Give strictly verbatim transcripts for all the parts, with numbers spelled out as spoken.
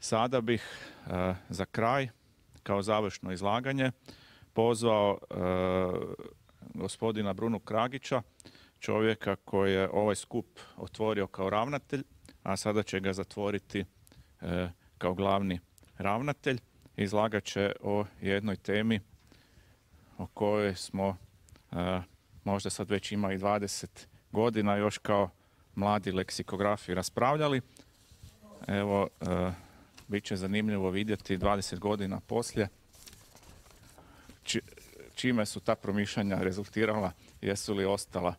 Sada bih za kraj, kao završno izlaganje, pozvao gospodina Brunu Kragića, čovjeka koji je ovaj skup otvorio kao ravnatelj, a sada će ga zatvoriti kao glavni ravnatelj. Izlagat će o jednoj temi o kojoj smo možda sad već ima i dvadeset godina još kao mladi leksikografi raspravljali. Evo, bit će zanimljivo vidjeti dvadeset godina poslije či, čime su ta promišljanja rezultirala, jesu li ostala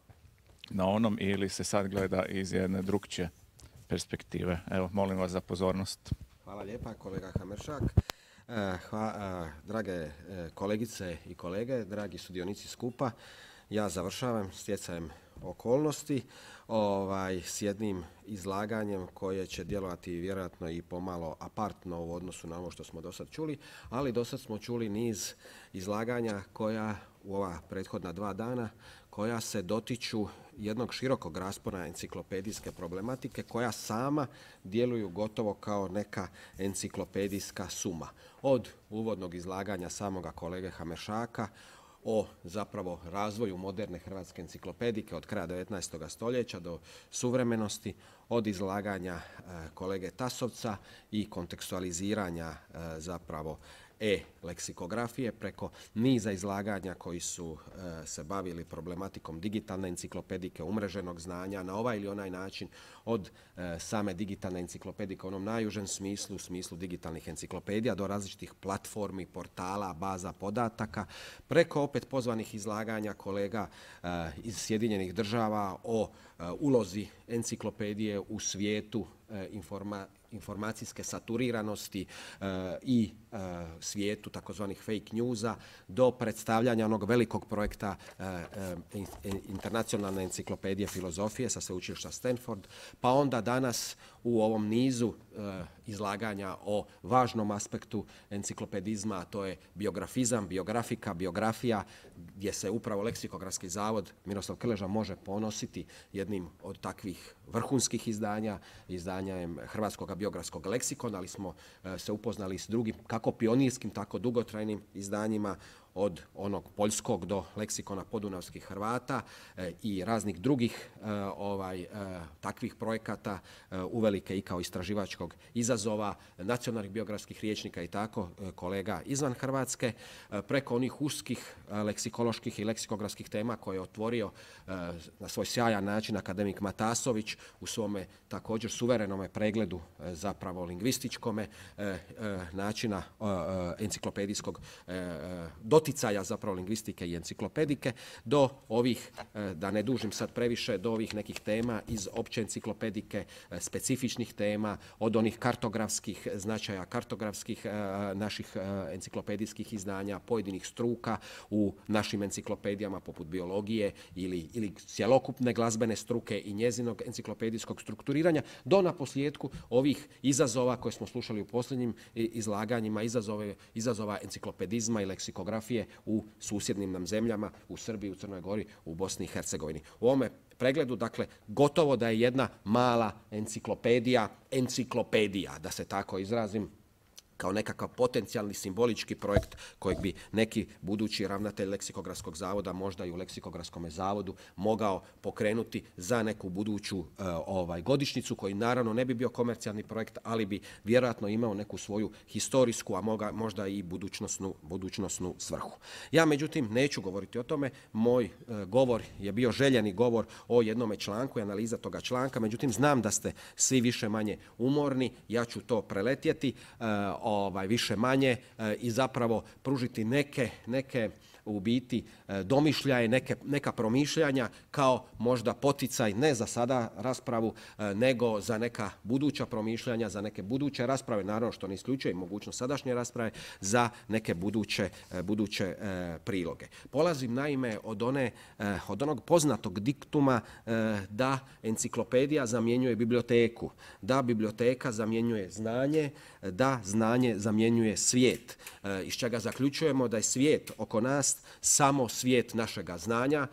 na onom ili se sad gleda iz jedne drukčije perspektive. Evo, molim vas za pozornost. Hvala lijepa, kolega Hameršak. Hva, drage kolegice i kolege, dragi sudionici skupa, ja završavam stjecajem okolnosti ovaj, s jednim izlaganjem koje će djelovati vjerojatno i pomalo apartno u odnosu na ovo što smo do sad čuli, ali do sad smo čuli niz izlaganja koja u ova prethodna dva dana koja se dotiču jednog širokog raspona enciklopedijske problematike koja sama djeluju gotovo kao neka enciklopedijska suma. Od uvodnog izlaganja samoga kolege Hameršaka o zapravo razvoju moderne hrvatske enciklopedike od kraja devetnaestog stoljeća do suvremenosti, od izlaganja kolege Tasovca i kontekstualiziranja zapravo e-leksikografije preko niza izlaganja koji su e, se bavili problematikom digitalne enciklopedike, umreženog znanja na ovaj ili onaj način, od e, same digitalne enciklopedike u onom najužem smislu, u smislu digitalnih enciklopedija do različitih platformi, portala, baza podataka, preko opet pozvanih izlaganja kolega e, iz Sjedinjenih Država o e, ulozi enciklopedije u svijetu e, informa, informacijske saturiranosti e, i e, svijetu takozvanih fake newsa do predstavljanja onog velikog projekta e, e, internacionalne enciklopedije filozofije sa sveučilišta Stanford, pa onda danas u ovom nizu e, izlaganja o važnom aspektu enciklopedizma, a to je biografizam, biografika, biografija, gdje se upravo Leksikografski zavod Miroslav Krleža može ponositi jednim od takvih vrhunskih izdanja, izdanjem Hrvatskog biografskog leksikona, ali smo e, se upoznali s drugim, kako pionirskim, tako dugotrajnim izdanjima, od onog poljskog do leksikona podunavskih Hrvata e, i raznih drugih e, ovaj, e, takvih projekata e, uvelike i kao istraživačkog izazova, nacionalnih biografskih rječnika i tako e, kolega izvan Hrvatske, e, preko onih uskih e, leksikoloških i leksikografskih tema koje je otvorio e, na svoj sjajan način akademik Matasović u svome također suverenome pregledu e, zapravo lingvističkome e, e, načina e, enciklopedijskog e, doticaja zapravo lingvistike i enciklopedike, do ovih, da ne dužim sad previše, do ovih nekih tema iz opće enciklopedike, specifičnih tema, od onih kartografskih značaja, kartografskih naših enciklopedijskih izdanja, pojedinih struka u našim enciklopedijama poput biologije ili, ili cjelokupne glazbene struke i njezinog enciklopedijskog strukturiranja, do naposljetku ovih izazova koje smo slušali u posljednjim izlaganjima, izazove, izazova enciklopedizma i leksikografije u susjednim nam zemljama, u Srbiji, u Crnoj Gori, u Bosni i Hercegovini. U ovome pregledu, dakle, gotovo da je jedna mala enciklopedija, enciklopedija, da se tako izrazim, kao nekakav potencijalni simbolički projekt kojeg bi neki budući ravnatelj Leksikografskog zavoda možda i u Leksikografskom zavodu mogao pokrenuti za neku buduću uh, ovaj, godišnjicu, koji naravno ne bi bio komercijalni projekt, ali bi vjerojatno imao neku svoju historijsku, a moga, možda i budućnosnu, budućnosnu svrhu. Ja međutim neću govoriti o tome, moj uh, govor je bio željeni govor o jednome članku i analiza toga članka, međutim znam da ste svi više manje umorni, ja ću to preletjeti, uh, Ovaj, više manje e, i zapravo pružiti neke, neke u biti e, domišljaje, neke, neka promišljanja kao možda poticaj ne za sada raspravu, e, nego za neka buduća promišljanja, za neke buduće rasprave, naravno što ne isključuje mogućnost sadašnje rasprave, za neke buduće, e, buduće e, priloge. Polazim naime od, one, e, od onog poznatog diktuma e, da enciklopedija zamjenjuje biblioteku, da biblioteka zamjenjuje znanje, da znanje zamjenjuje svijet, e, iz čega zaključujemo da je svijet oko nas samo svijet našega znanja,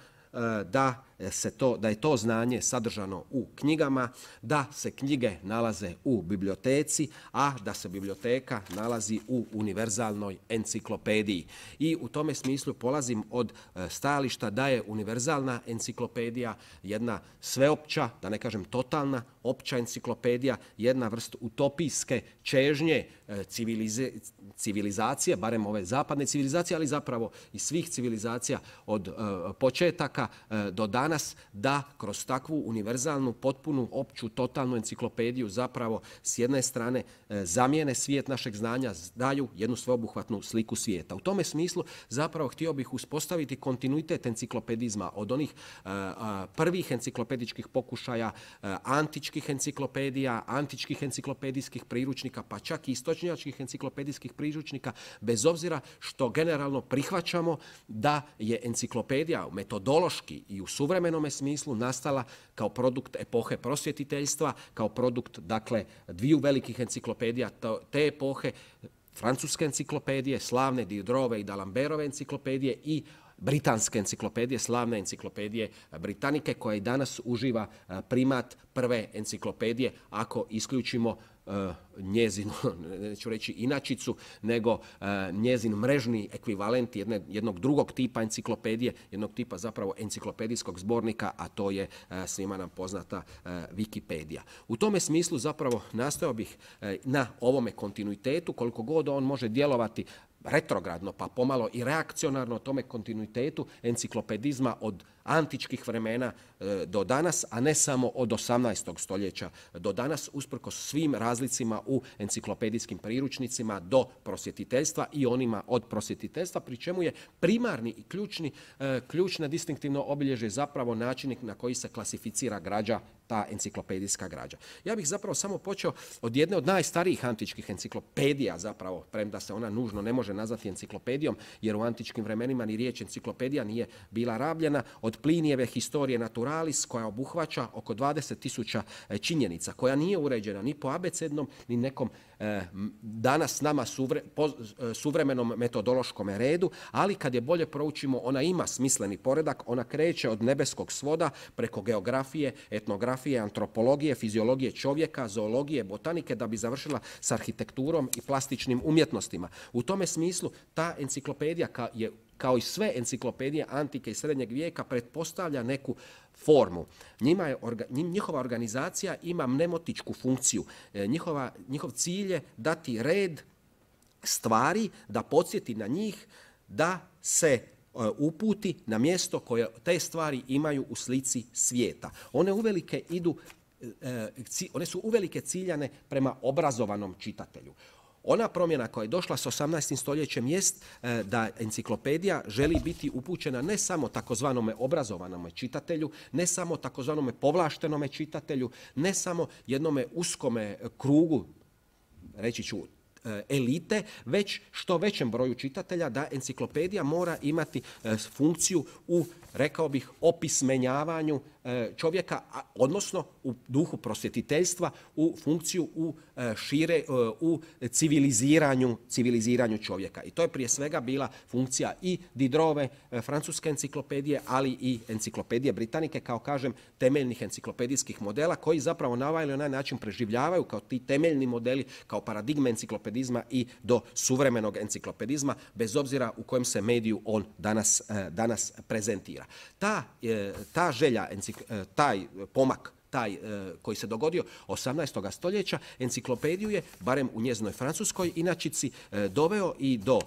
da, se to, da je to znanje sadržano u knjigama, da se knjige nalaze u biblioteci, a da se biblioteka nalazi u univerzalnoj enciklopediji. I u tome smislu polazim od stajališta da je univerzalna enciklopedija jedna sveopća, da ne kažem totalna, opća enciklopedija, jedna vrst utopijske čežnje civilize, civilizacije, barem ove zapadne civilizacije, ali zapravo i svih civilizacija od uh, početaka uh, do danas, da kroz takvu univerzalnu, potpunu, opću, totalnu enciklopediju zapravo s jedne strane uh, zamijene svijet našeg znanja, daju jednu sveobuhvatnu sliku svijeta. U tome smislu zapravo htio bih uspostaviti kontinuitet enciklopedizma od onih uh, uh, prvih enciklopedičkih pokušaja, uh, antičkih enciklopedija, antičkih enciklopedijskih priručnika, pa čak i istočnjačkih enciklopedijskih priručnika, bez obzira što generalno prihvaćamo da je enciklopedija metodološki i u suvremenome smislu nastala kao produkt epohe prosvjetiteljstva, kao produkt, dakle, dviju velikih enciklopedija te epohe, francuske enciklopedije, slavne Diderotove i D'Alembertove enciklopedije i britanske enciklopedije, slavne enciklopedije Britanike, koja i danas uživa primat prve enciklopedije, ako isključimo uh, njezinu, neću reći inačicu, nego uh, njezin mrežni ekvivalent jedne, jednog drugog tipa enciklopedije, jednog tipa zapravo enciklopedijskog zbornika, a to je uh, svima nam poznata uh, Wikipedija. U tome smislu zapravo nastojao bih uh, na ovome kontinuitetu, koliko god on može djelovati retrogradno, pa pomalo i reakcionarno tome kontinuitetu enciklopedizma od antičkih vremena e, do danas, a ne samo od osamnaestog stoljeća do danas, usprkos svim razlicima u enciklopedijskim priručnicima do prosvjetiteljstva i onima od prosvjetiteljstva, pri čemu je primarni i ključni, e, ključna distinktivno obilježje zapravo način na koji se klasificira građa, ta enciklopedijska građa. Ja bih zapravo samo počeo od jedne od najstarijih antičkih enciklopedija, zapravo, premda se ona nužno ne može nazvati enciklopedijom, jer u antičkim vremenima ni riječ enciklopedija nije bila rabljena, od Plinijeve Historije Naturalis, koja obuhvaća oko dvadeset tisuća činjenica, koja nije uređena ni po abecednom, ni nekom eh, danas nama suvre, po, suvremenom metodološkom redu, ali kad je bolje proučimo, ona ima smisleni poredak, ona kreće od nebeskog svoda preko geografije, etnografije, antropologije, fiziologije čovjeka, zoologije, botanike, da bi završila s arhitekturom i plastičnim umjetnostima. U tome smislu ta enciklopedija je, kao i sve enciklopedije antike i srednjeg vijeka, pretpostavlja neku formu. Njima je, njihova organizacija ima mnemotičku funkciju. Njihova, njihov cilj je dati red stvari, da podsjeti na njih, da se uputi na mjesto koje te stvari imaju u slici svijeta. One uvelike idu, one su uvelike ciljane prema obrazovanom čitatelju. Ona promjena koja je došla s osamnaestim stoljećem jest da enciklopedija želi biti upućena ne samo takozvanome obrazovanome čitatelju, ne samo takozvanome povlaštenome čitatelju, ne samo jednome uskome krugu, reći ću, elite, već što većem broju čitatelja, da enciklopedija mora imati funkciju u, rekao bih, opismenjavanju čovjeka, odnosno u duhu prosvjetiteljstva, u funkciju u šire, u civiliziranju, civiliziranju čovjeka. I to je prije svega bila funkcija i Diderotove francuske enciklopedije, ali i enciklopedije Britanike, kao kažem, temeljnih enciklopedijskih modela, koji zapravo na ovaj ili onaj način preživljavaju kao ti temeljni modeli, kao paradigme enciklopedizma i do suvremenog enciklopedizma, bez obzira u kojem se mediju on danas, danas prezentira. Ta, ta želja, taj pomak, taj koji se dogodio osamnaestog stoljeća, enciklopediju je, barem u njezinoj francuskoj inačici, doveo i do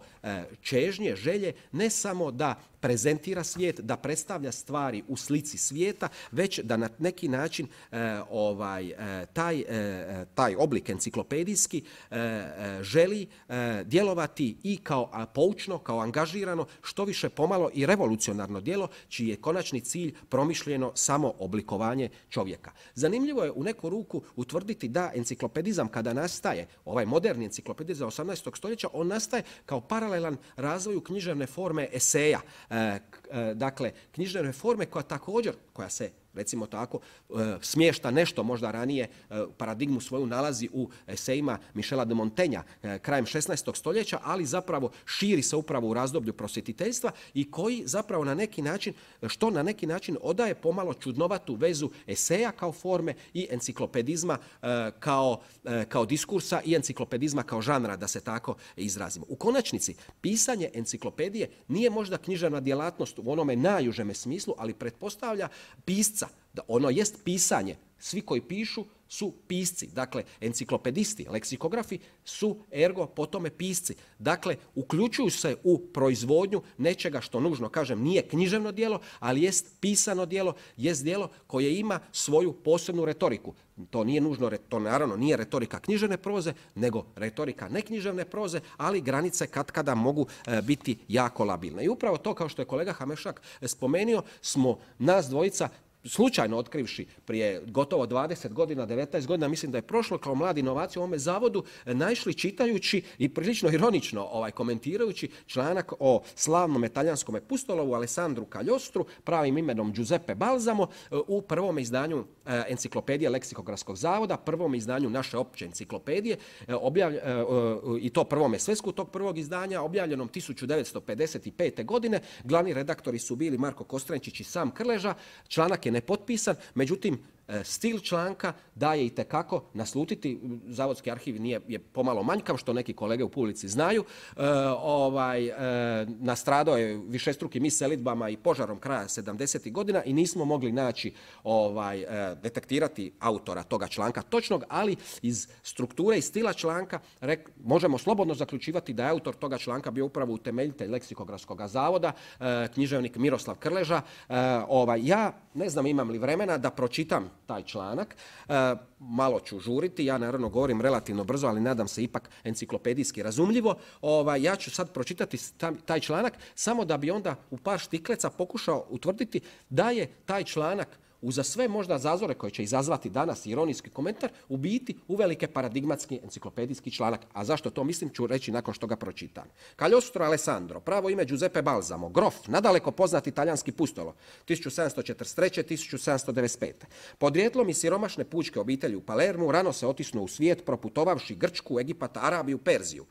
čežnje, želje, ne samo da prezentira svijet, da predstavlja stvari u slici svijeta, već da na neki način e, ovaj, e, taj, e, taj oblik enciklopedijski e, e, želi e, djelovati i kao a, poučno, kao angažirano, što više pomalo i revolucionarno djelo, čiji je konačni cilj promišljeno samo oblikovanje čovjeka. Zanimljivo je u neku ruku utvrditi da enciklopedizam kada nastaje, ovaj moderni enciklopedizam osamnaestog stoljeća, on nastaje kao paralelan razvoju književne forme eseja. dakle, knjižne reforme koja također, koja se recimo tako, smješta nešto možda ranije, paradigmu svoju nalazi u esejima Michela de Montaigna krajem šesnaestog stoljeća, ali zapravo širi se upravo u razdoblju prosvjetiteljstva i koji zapravo na neki način, što na neki način odaje pomalo čudnovatu vezu eseja kao forme i enciklopedizma kao, kao diskursa i enciklopedizma kao žanra, da se tako izrazimo. U konačnici, pisanje enciklopedije nije možda književna djelatnost u onome najužeme smislu, ali pretpostavlja pisca. Da ono jest pisanje. Svi koji pišu su pisci. Dakle, enciklopedisti, leksikografi su ergo po tome pisci. Dakle, uključuju se u proizvodnju nečega što nužno, kažem, nije književno djelo, ali jest pisano djelo, jest djelo koje ima svoju posebnu retoriku. To nije nužno, to naravno nije retorika književne proze, nego retorika neknjiževne proze, ali granice katkada mogu e, biti jako labilne. I upravo to, kao što je kolega Hameršak spomenuo, smo nas dvojica slučajno otkrivši prije gotovo dvadeset godina, devetnaest godina, mislim da je prošlo kao mladi inovacija u ovome zavodu, naišli čitajući i prilično ironično ovaj, komentirajući članak o slavnom talijanskom pustolovu Alessandru Cagliostru, pravim imenom Giuseppe Balsamo, u prvom izdanju enciklopedije Leksikografskog zavoda, prvom izdanju naše opće enciklopedije, objavlj, i to prvome svesku tog prvog izdanja, objavljenom tisuću devetsto pedeset pete. godine. Glavni redaktori su bili Marko Kostrenčić i Sam Krleža. Članak je nepotpisan, međutim, stil članka daje itekako naslutiti. Zavodski arhiv nije, je pomalo manjkav, što neki kolege u publici znaju. E, ovaj, e, nastradao je višestrukim selidbama i požarom kraja sedamdesetih godina i nismo mogli naći, ovaj, e, detektirati autora toga članka točnog, ali iz strukture i stila članka rek, možemo slobodno zaključivati da je autor toga članka bio upravo utemeljitelj Leksikografskog zavoda, e, književnik Miroslav Krleža. E, ovaj, ja ne znam imam li vremena da pročitam taj članak. E, malo ću žuriti, ja naravno govorim relativno brzo, ali nadam se ipak enciklopedijski razumljivo. Ovaj, ja ću sad pročitati taj članak samo da bi onda u par štikleca pokušao utvrditi da je taj članak uza sve možda zazore koje će izazvati danas ironijski komentar, u biti uvelike paradigmatski enciklopedijski članak. A zašto to mislim ću reći nakon što ga pročitam. Cagliostro Alessandro, pravo ime Giuseppe Balsamo, grof, nadaleko poznati talijanski pustolo, tisuću sedamsto četrdeset treće do tisuću sedamsto devedeset pete. Podrijetlom iz siromašne pučke obitelji u Palermu, rano se otisnuo u svijet, proputovavši Grčku, Egipat, Arabiju, Perziju.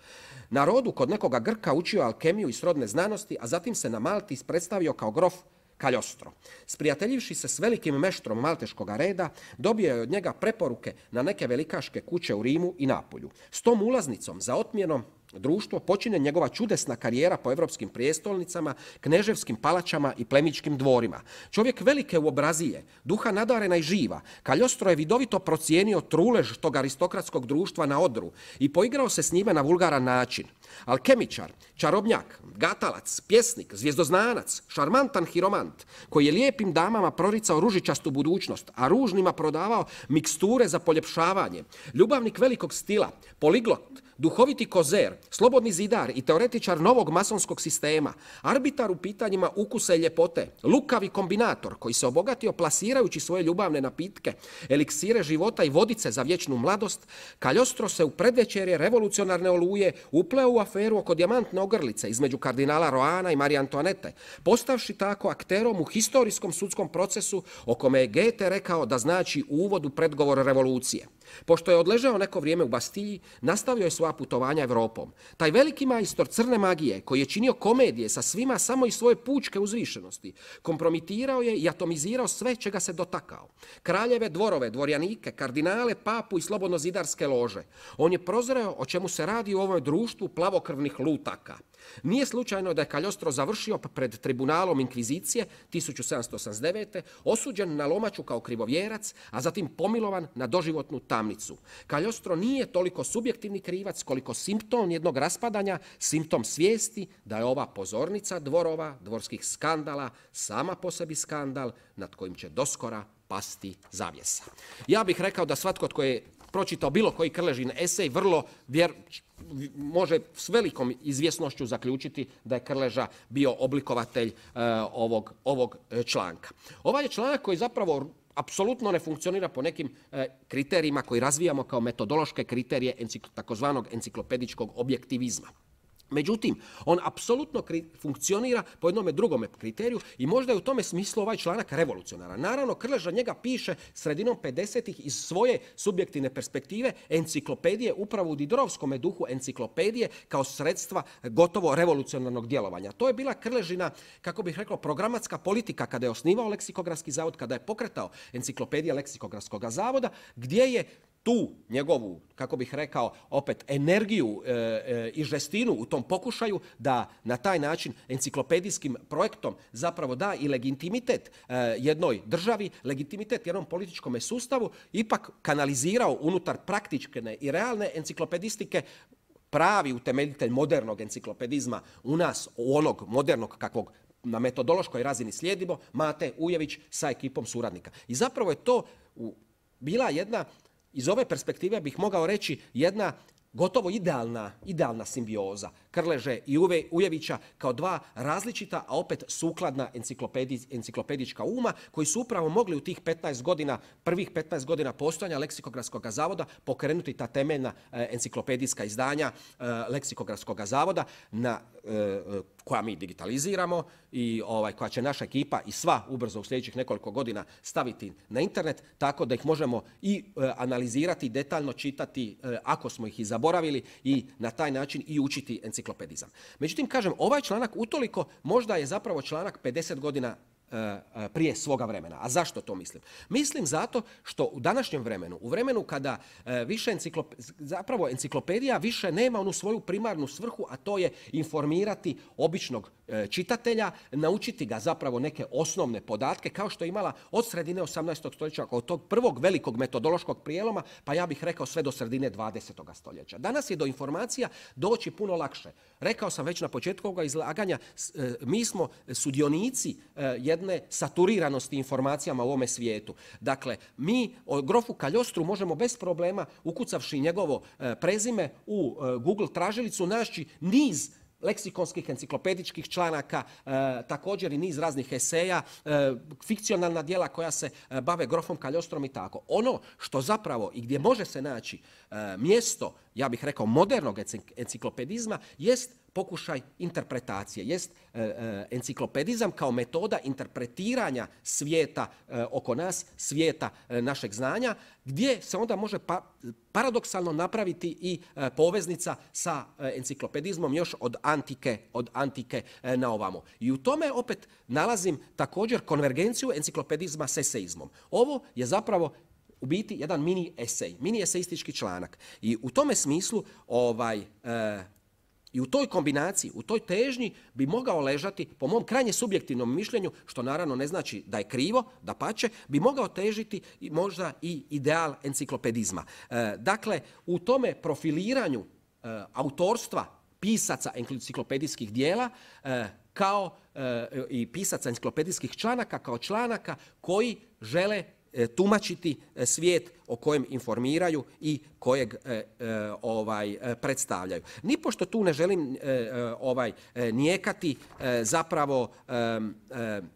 Na rodu kod nekoga Grka učio alkemiju i srodne znanosti, a zatim se na Malti predstavio kao grof Cagliostro. Sprijateljivši se s velikim meštrom malteškoga reda, dobio je od njega preporuke na neke velikaške kuće u Rimu i Napolju. S tom ulaznicom za otmjenom društvo počinje njegova čudesna karijera po evropskim prijestolnicama, kneževskim palačama i plemićkim dvorima. Čovjek velike uobrazije, duha nadarena i živa, Cagliostro je vidovito procijenio trulež tog aristokratskog društva na odru i poigrao se s njime na vulgaran način. Alkemičar, čarobnjak, gatalac, pjesnik, zvijezdoznanac, šarmantan hiromant, koji je lijepim damama proricao ružičastu budućnost, a ružnima prodavao miksture za poljepšavanje, ljubavnik velikog stila, poliglot, duhoviti kozer, slobodni zidar i teoretičar novog masonskog sistema, arbitar u pitanjima ukusa i ljepote, lukavi kombinator koji se obogatio plasirajući svoje ljubavne napitke, eliksire života i vodice za vječnu mladost, Cagliostro se u predvečerje revolucionarne oluje upleo u aferu oko dijamantne ogrlice između kardinala Roana i Marije Antoanete, postavši tako akterom u historijskom sudskom procesu o kome je Goethe rekao da znači uvod u predgovor revolucije. Pošto je odležao neko vrijeme u Bastilji, nastavio je svoja putovanja Evropom. Taj veliki majstor crne magije, koji je činio komedije sa svima samo iz svoje pučke uzvišenosti, kompromitirao je i atomizirao sve čega se dotakao. Kraljeve, dvorove, dvorjanike, kardinale, papu i slobodnozidarske lože. On je prozreo o čemu se radi u ovom društvu plavokrvnih lutaka. Nije slučajno da je Cagliostro završio pred tribunalom inkvizicije tisuću sedamsto osamdeset devete. osuđen na lomaču kao krivovjerac, a zatim pomilovan na doživotnu tamnicu. Cagliostro nije toliko subjektivni krivac koliko simptom jednog raspadanja, simptom svijesti da je ova pozornica dvorova, dvorskih skandala, sama po sebi skandal nad kojim će doskora pasti zavjesa. Ja bih rekao da svatko tko je pročitao bilo koji Krležin esej vrlo vjer, može s velikom izvjesnošću zaključiti da je Krleža bio oblikovatelj uh, ovog, ovog članka. Ovaj je članak koji zapravo apsolutno ne funkcionira po nekim e, kriterijima koji razvijamo kao metodološke kriterije encikl, takozvanog enciklopedičkog objektivizma. Međutim, on apsolutno funkcionira po jednome drugome kriteriju i možda je u tome smislu ovaj članak revolucionaran. Naravno, Krleža njega piše sredinom pedesetih iz svoje subjektivne perspektive enciklopedije, upravo u Diderovskom duhu enciklopedije kao sredstva gotovo revolucionarnog djelovanja. To je bila Krležina, kako bih rekao, programatska politika kada je osnivao Leksikografski zavod, kada je pokretao enciklopedija Leksikografskog zavoda, gdje je tu njegovu, kako bih rekao, opet energiju e, e, i žestinu u tom pokušaju da na taj način enciklopedijskim projektom zapravo da i legitimitet e, jednoj državi, legitimitet jednom političkom sustavu, ipak kanalizirao unutar praktične i realne enciklopedistike pravi utemeljitelj modernog enciklopedizma u nas, u onog modernog kakvog na metodološkoj razini slijedimo, Mate Ujević sa ekipom suradnika. I zapravo je to u, bila jedna, iz ove perspektive bih mogao reći, jedna gotovo idealna, idealna simbioza Krleže i Ujevića kao dva različita, a opet sukladna enciklopedička uma koji su upravo mogli u tih petnaest godina, prvih petnaest godina postojanja Leksikografskog zavoda pokrenuti ta temeljna enciklopedijska izdanja Leksikografskog zavoda na, koja mi digitaliziramo i ovaj, koja će naša ekipa i sva ubrzo u sljedećih nekoliko godina staviti na internet, tako da ih možemo i analizirati, detaljno čitati ako smo ih i zaboravili i na taj način i učiti enciklopedizam. Međutim, kažem, ovaj članak utoliko možda je zapravo članak pedeset godina prije svoga vremena. A zašto to mislim? Mislim zato što u današnjem vremenu, u vremenu kada više enciklop... zapravo enciklopedija više nema onu svoju primarnu svrhu, a to je informirati običnog čitatelja, naučiti ga zapravo neke osnovne podatke, kao što je imala od sredine osamnaestog stoljeća, od tog prvog velikog metodološkog prijeloma, pa ja bih rekao sve do sredine dvadesetog stoljeća. Danas je do informacija doći puno lakše. Rekao sam već na početku ovoga izlaganja, mi smo sudionici jedne saturiranosti informacijama u ovome svijetu. Dakle, mi o grofu Kaljostru možemo bez problema, ukucavši njegovo prezime u Google tražilicu, naći niz leksikonskih enciklopedičkih članaka, e, također i niz raznih eseja, e, fikcionalna djela koja se e, bave grofom Kaljostrom i tako. Ono što zapravo i gdje može se naći e, mjesto, ja bih rekao, modernog enciklopedizma jest pokušaj interpretacije, jest e, e, enciklopedizam kao metoda interpretiranja svijeta e, oko nas, svijeta e, našeg znanja, gdje se onda može pa, paradoksalno napraviti i e, poveznica sa e, enciklopedizmom još od antike, od antike e, na ovamo. I u tome opet nalazim također konvergenciju enciklopedizma s eseizmom. Ovo je zapravo u biti jedan mini esej, mini eseistički članak. I u tome smislu ovaj e, i u toj kombinaciji, u toj težnji bi mogao ležati, po mom krajnje subjektivnom mišljenju, što naravno ne znači da je krivo, dapače, bi mogao težiti možda i ideal enciklopedizma. E, dakle, u tome profiliranju e, autorstva pisaca enciklopedijskih dijela e, kao e, i pisaca enciklopedijskih članaka kao članaka koji žele tumačiti svijet o kojem informiraju i kojeg e, e, ovaj, e, predstavljaju. Nipošto tu ne želim e, e, ovaj, e, nijekati e, zapravo e, e,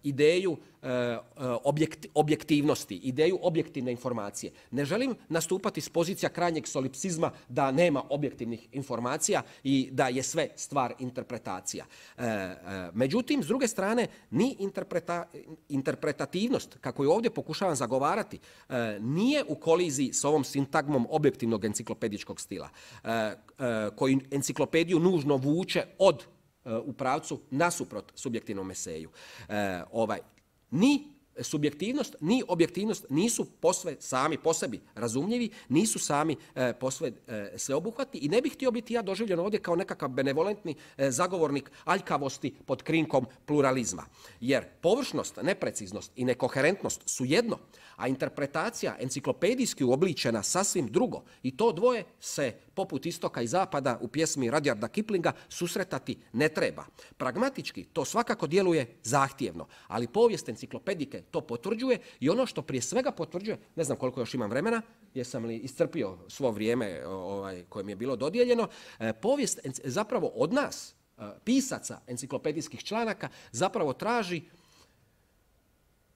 ideju e, objekt, objektivnosti, ideju objektivne informacije. Ne želim nastupati s pozicija krajnjeg solipsizma da nema objektivnih informacija i da je sve stvar interpretacija. E, e, međutim, s druge strane, ni interpreta, interpretativnost, kako je ovdje pokušavam zagovarati, e, nije u koliziji s ovom sintagmom objektivnog enciklopedičkog stila, e, e, koji enciklopediju nužno vuče od e, u pravcu nasuprot subjektivnom eseju. E, ovaj, ni subjektivnost ni objektivnost nisu posve sami po sebi razumljivi, nisu sami e, posve e, sveobuhvatni i ne bih htio biti ja doživljen ovdje kao nekakav benevolentni e, zagovornik aljkavosti pod krinkom pluralizma. Jer površnost, nepreciznost i nekoherentnost su jedno, a interpretacija enciklopedijski uobličena sasvim drugo. I to dvoje se poput istoka i zapada u pjesmi Rudyarda Kiplinga susretati ne treba. Pragmatički to svakako djeluje zahtjevno, ali povijest enciklopedike to potvrđuje i ono što prije svega potvrđuje, ne znam koliko još imam vremena, jesam li iscrpio svo vrijeme ovaj, koje mi je bilo dodijeljeno, povijest zapravo od nas, pisaca enciklopedijskih članaka, zapravo traži,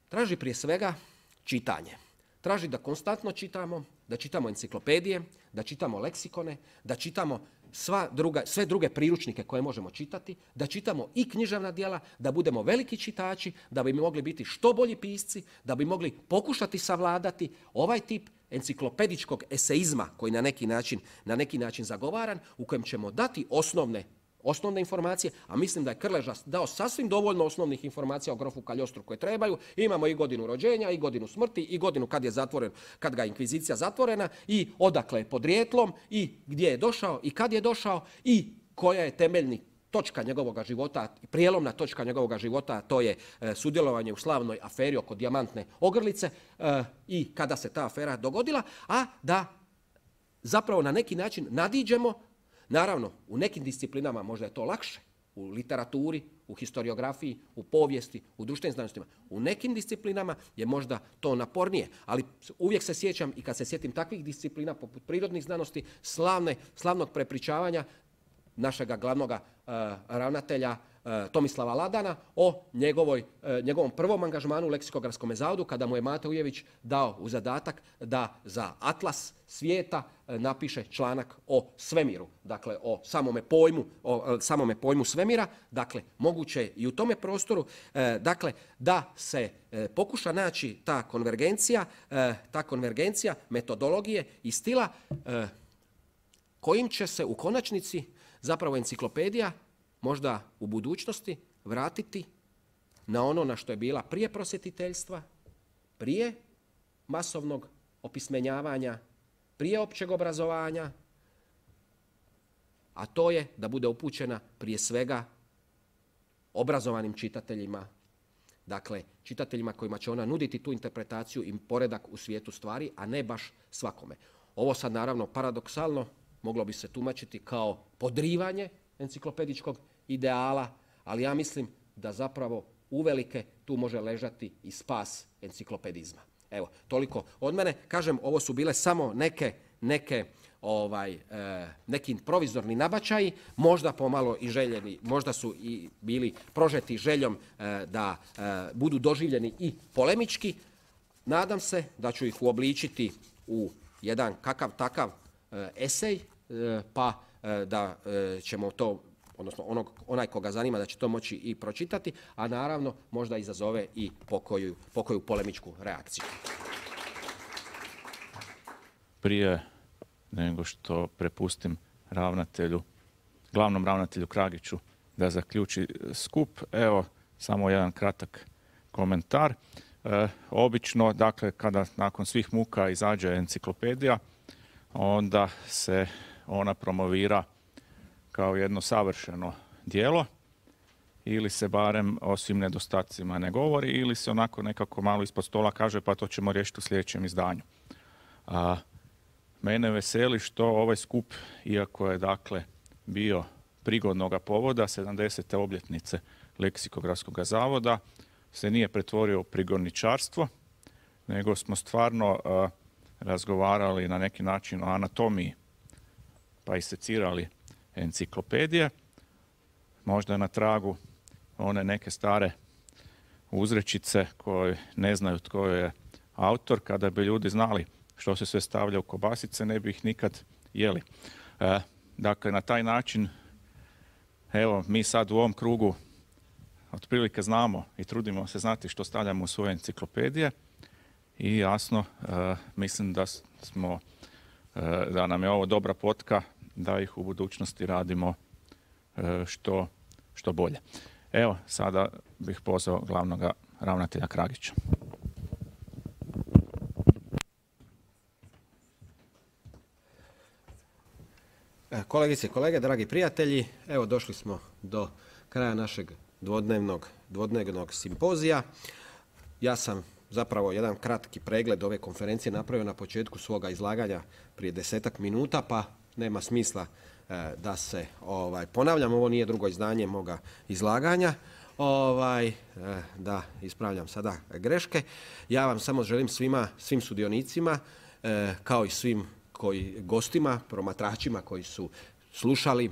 traži prije svega čitanje. Traži da konstantno čitamo, da čitamo enciklopedije, da čitamo leksikone, da čitamo sva druga, sve druge priručnike koje možemo čitati, da čitamo i književna djela, da budemo veliki čitači, da bi mogli biti što bolji pisci, da bi mogli pokušati savladati ovaj tip enciklopedičkog eseizma koji na neki način, na neki način zagovaran, u kojem ćemo dati osnovne osnovne informacije, a mislim da je Krleža dao sasvim dovoljno osnovnih informacija o grofu Kaljostru koje trebaju. Imamo i godinu rođenja, i godinu smrti, i godinu kad je zatvoren, kad ga je inkvizicija zatvorena, i odakle je podrijetlom, i gdje je došao, i kad je došao, i koja je temeljni točka njegovog života, prijelomna točka njegovog života, a to je e, sudjelovanje u slavnoj aferi oko dijamantne ogrlice e, i kada se ta afera dogodila, a da zapravo na neki način nadiđemo. Naravno, u nekim disciplinama možda je to lakše, u literaturi, u historiografiji, u povijesti, u društvenim znanostima. U nekim disciplinama je možda to napornije, ali uvijek se sjećam i kad se sjetim takvih disciplina poput prirodnih znanosti, slavne, slavnog prepričavanja našega glavnog uh, ravnatelja uh, Tomislava Ladana o njegovoj, uh, njegovom prvom angažmanu u Leksikografskom zavodu, kada mu je Mate Ujević dao u zadatak da za atlas svijeta uh, napiše članak o svemiru, dakle o samome pojmu, o uh, samome pojmu svemira. Dakle, moguće je i u tome prostoru, uh, dakle, da se uh, pokuša naći ta konvergencija, uh, ta konvergencija metodologije i stila uh, kojim će se u konačnici zapravo enciklopedija možda u budućnosti vratiti na ono na što je bila prije prosvjetiteljstva, prije masovnog opismenjavanja, prije općeg obrazovanja, a to je da bude upućena prije svega obrazovanim čitateljima, dakle čitateljima kojima će ona nuditi tu interpretaciju i poredak u svijetu stvari, a ne baš svakome. Ovo sad naravno paradoksalno moglo bi se tumačiti kao podrivanje enciklopedičkog ideala, ali ja mislim da zapravo uvelike tu može ležati i spas enciklopedizma. Evo, toliko od mene. Kažem, ovo su bile samo neke, neke ovaj, e, neki provizorni nabačaji, možda pomalo i željeni, možda su i bili prožeti željom e, da e, budu doživljeni i polemički. Nadam se da ću ih uobličiti u jedan kakav takav e, esej, e, pa e, da e, ćemo to, odnosno onog, onaj koga zanima da će to moći i pročitati, a naravno možda izazove i pokoju, pokoju polemičku reakciju. Prije nego što prepustim ravnatelju, glavnom ravnatelju Kragiću da zaključi skup, evo samo jedan kratak komentar. E, obično, dakle, kada nakon svih muka izađe enciklopedija, onda se ona promovira kao jedno savršeno djelo, ili se barem o svim nedostacima ne govori, ili se onako nekako malo ispod stola kaže pa to ćemo riješiti u sljedećem izdanju. A, mene veseli što ovaj skup, iako je dakle bio prigodnoga povoda sedamdesete obljetnice Leksikografskog zavoda, se nije pretvorio u prigodničarstvo, nego smo stvarno a, razgovarali na neki način o anatomiji, pa i secirali enciklopedije, možda na tragu one neke stare uzrečice koje ne znaju tko je autor. Kada bi ljudi znali što se sve stavlja u kobasice, ne bi ih nikad jeli. E, dakle, na taj način, evo, mi sad u ovom krugu otprilike znamo i trudimo se znati što stavljamo u svoje enciklopedije i jasno, e, mislim da smo, e, da nam je ovo dobra potka da ih u budućnosti radimo e, što, što bolje. Evo, sada bih pozvao glavnog ravnatelja Kragića. Kolegice i kolege, dragi prijatelji, evo došli smo do kraja našeg dvodnevnog, dvodnevnog simpozija. Ja sam zapravo jedan kratki pregled ove konferencije napravio na početku svoga izlaganja prije desetak minuta, pa nema smisla e, da se ovaj, ponavljam. Ovo nije drugo izdanje moga izlaganja. Ovaj, e, da ispravljam sada greške. Ja vam samo želim svima, svim sudionicima, e, kao i svim koji, gostima, promatračima koji su slušali e,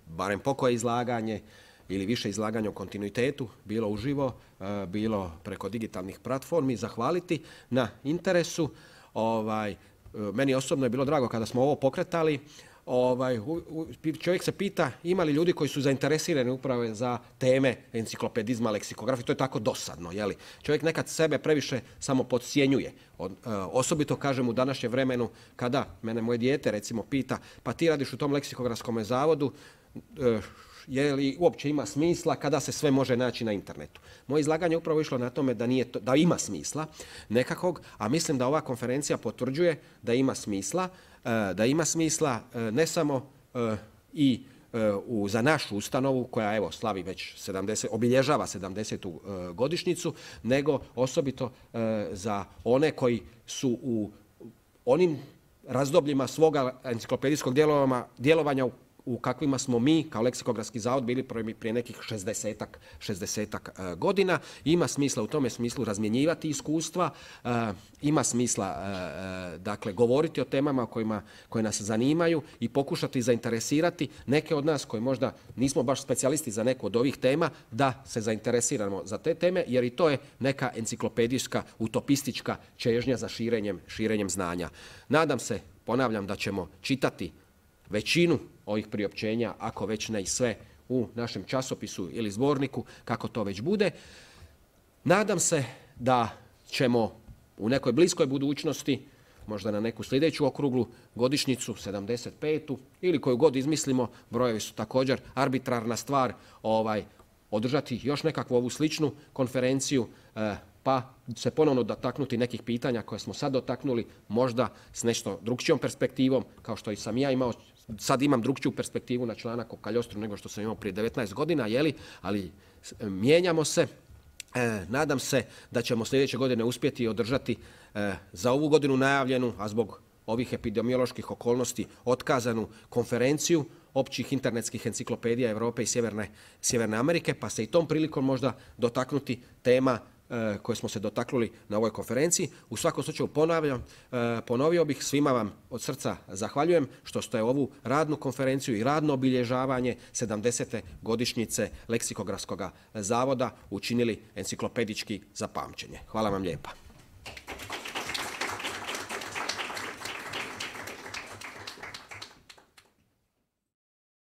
barem pokoje izlaganje ili više izlaganja o kontinuitetu, bilo uživo, e, bilo preko digitalnih platformi, zahvaliti na interesu. Ovaj, meni osobno je bilo drago kada smo ovo pokretali. ovaj, čovjek se pita ima li ljudi koji su zainteresirani upravo za teme enciklopedizma, leksikografije, to je tako dosadno. Jeli? Čovjek nekad sebe previše samo podcjenjuje. Osobito kažem u današnjem vremenu kada mene moje dijete recimo pita pa ti radiš u tom leksikografskom zavodu, je li uopće ima smisla kada se sve može naći na internetu. Moje izlaganje je upravo išlo na tome da, nije to, da ima smisla nekakvog, a mislim da ova konferencija potvrđuje da ima smisla, da ima smisla ne samo i u, za našu ustanovu koja evo slavi već sedamdeset, obilježava sedamdesetu godišnjicu, nego osobito za one koji su u onim razdobljima svoga enciklopedijskog djelovanja u kakvima smo mi kao leksikografski zavod bili prije nekih šezdesetak, šezdesetak godina. Ima smisla u tome smislu razmjenjivati iskustva, ima smisla dakle govoriti o temama kojima, koje nas zanimaju i pokušati zainteresirati neke od nas koji možda nismo baš specijalisti za neku od ovih tema da se zainteresiramo za te teme jer i to je neka enciklopedijska, utopistička čežnja za širenjem, širenjem znanja. Nadam se, ponavljam, da ćemo čitati većinu ovih priopćenja, ako već ne i sve, u našem časopisu ili zborniku, kako to već bude. Nadam se da ćemo u nekoj bliskoj budućnosti, možda na neku sljedeću okruglu godišnjicu, sedamdeset petu ili koju god izmislimo, brojevi su također arbitrarna stvar, ovaj, održati još nekakvu ovu sličnu konferenciju, eh, pa se ponovno dotaknuti nekih pitanja koje smo sad dotaknuli, možda s nešto drugčijom perspektivom, kao što i sam ja imao. Sad imam drugčiju perspektivu na članak o kaljostru nego što sam imao prije devetnaest godina, jeli? Ali mijenjamo se. E, nadam se da ćemo sljedeće godine uspjeti održati e, za ovu godinu najavljenu, a zbog ovih epidemioloških okolnosti otkazanu konferenciju općih internetskih enciklopedija Europe i Sjeverne, Sjeverne Amerike, pa se i tom prilikom možda dotaknuti tema koje smo se dotaknuli na ovoj konferenciji. U svakom slučaju ponavljam, ponovio bih, svima vam od srca zahvaljujem što ste ovu radnu konferenciju i radno obilježavanje sedamdesete godišnjice Leksikografskog zavoda učinili enciklopedički za pamćenje. Hvala vam lijepa.